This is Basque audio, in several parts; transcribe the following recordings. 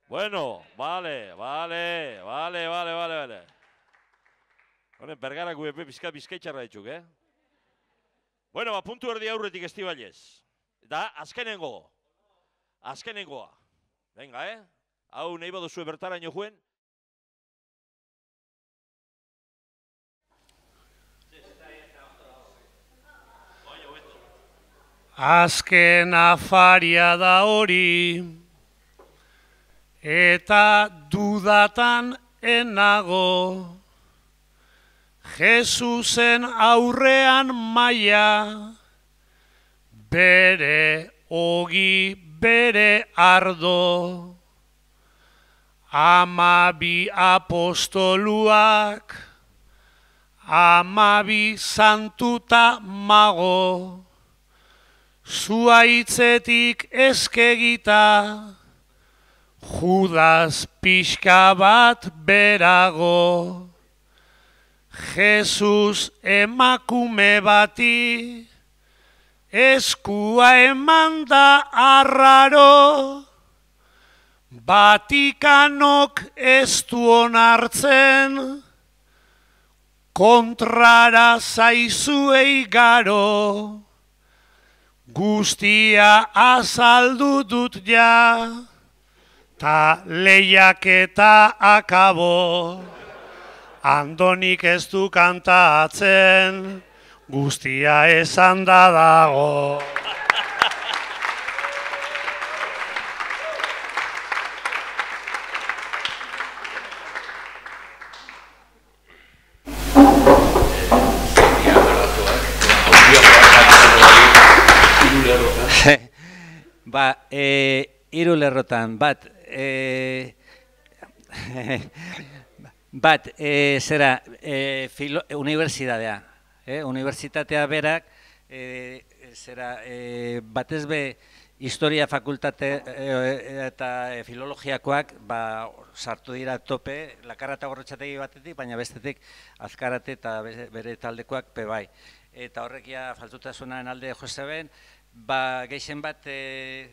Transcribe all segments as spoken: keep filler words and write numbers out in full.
Bueno, vale, vale, vale, vale, vale, vale. Honen, bergarak guepe bizka bizkaitxarra ditzuk, eh? Bueno, ba, puntu erdi aurretik Estibalez. Da, azkenengo. Azkenengoa. Venga, eh? Hau nahi baduzue bertaraino juen. Azken afaria da hori, eta dudatan enago, Jesusen aurrean maia, bere ogi, bere ardo, amabi apostoluak, amabi santuta mago, zuaitzetik eskegita, Judas pixka bat berago, Jesus emakume bati, eskua eman da arraro, Vatikanok ez du onartzen, kontrara zaizuei garo, guztia azaldu dut ja, ta lehiaketa akabo, Andonik ez du kantatzen, guztia esan da dago. Ba, hiru lerrotan, bat, e, bat, e, zera, e, filo, unibertsitatea, e, unibertsitatea berak, e, zera, e, batez be, historia fakultate e, eta e, filologiakoak, ba, sartu dira tope, lakarra eta gorrotxategi batetik, baina bestetik azkarate eta bere taldekoak pe bai. Eta horrekia faltutasunaren alde joseben, ba, geixen bat, e,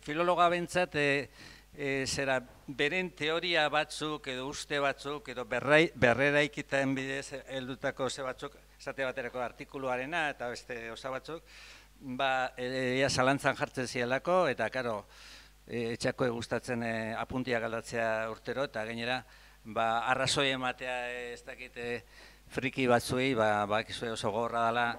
filologa bentsat, e, e, zera, beren teoria batzuk, edo uste batzuk, edo berrera ikitaen bidez heldutako ze batzuk, esate baterako artikuluarena eta beste osa batzuk, ba, ea zalantzan jartzen zielako, eta, karo, e, etxako gustatzen e, apuntia galdatzea urtero, eta gainera, ba, arrazoi ematea ez dakite friki batzuei, ba, ba, oso gorra dela,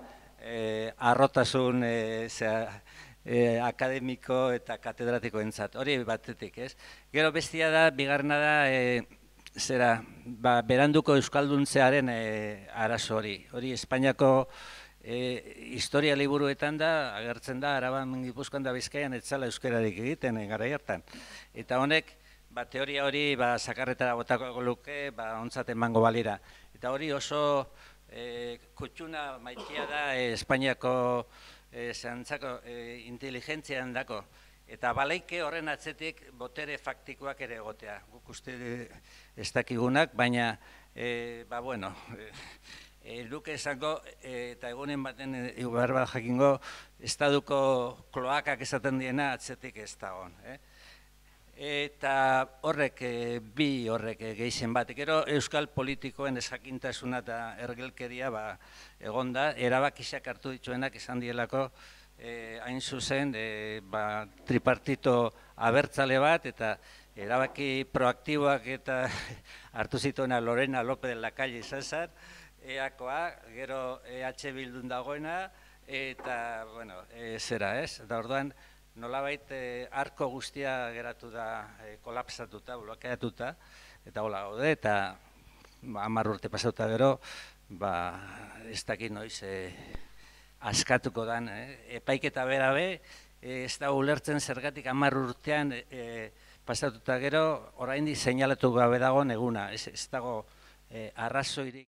Eh, arrotasun eh, zera, eh, akademiko eta katedratiko entzat, hori batetik, ez? Gero bestia da, bigarrena da, eh, zera, ba, beranduko euskalduntzearen eh, arazo hori. Hori Espainiako eh, historia liburuetan da, agertzen da, Araban, Gipuzkoan da Bizkaian etzala euskararik egiten, eh, garai hartan. Eta honek, ba, teoria hori, ba, sakarretara botako luke, ba, ontzat emango balira. Eta hori oso E, kutxuna maitia da e, Espainiako e, zantzako e, inteligentzian dako. Eta baleike horren atzetik botere faktikoak ere egotea. Guk uste ez dakigunak, baina, e, ba bueno, e, luke esango, e, eta egunen baten behar bat jakingo, estaduko kloakak esaten diena atzetik ez da hon. Eh? Eta horrek, bi horrek gehien bat. Gero euskal politikoen ezakintasuna eta ergelkeria ba, egon da, erabakisak hartu dituenak esan dielako eh, hain zuzen eh, ba, tripartito abertzale bat, eta erabaki proaktiboak eta hartu zituena Lorena López de la Calle izan zen, eakoa, gero E H Bildun dagoena, eta, bueno, e, zera ez, eta orduan, nolabait eh, arko guztia geratu da eh, kolapsatuta, blokeatuta, eta hola gaude, eta ba, hamar urte pasauta gero, ba, ez dakit noiz eh, askatuko dan. Eh? Epaiketa bera be, eh, ez da ulertzen zergatik hamar urtean eh, pasatuta gero, oraindik seinalatu gabe dago eguna, ez, ez dago eh, arrazoirik.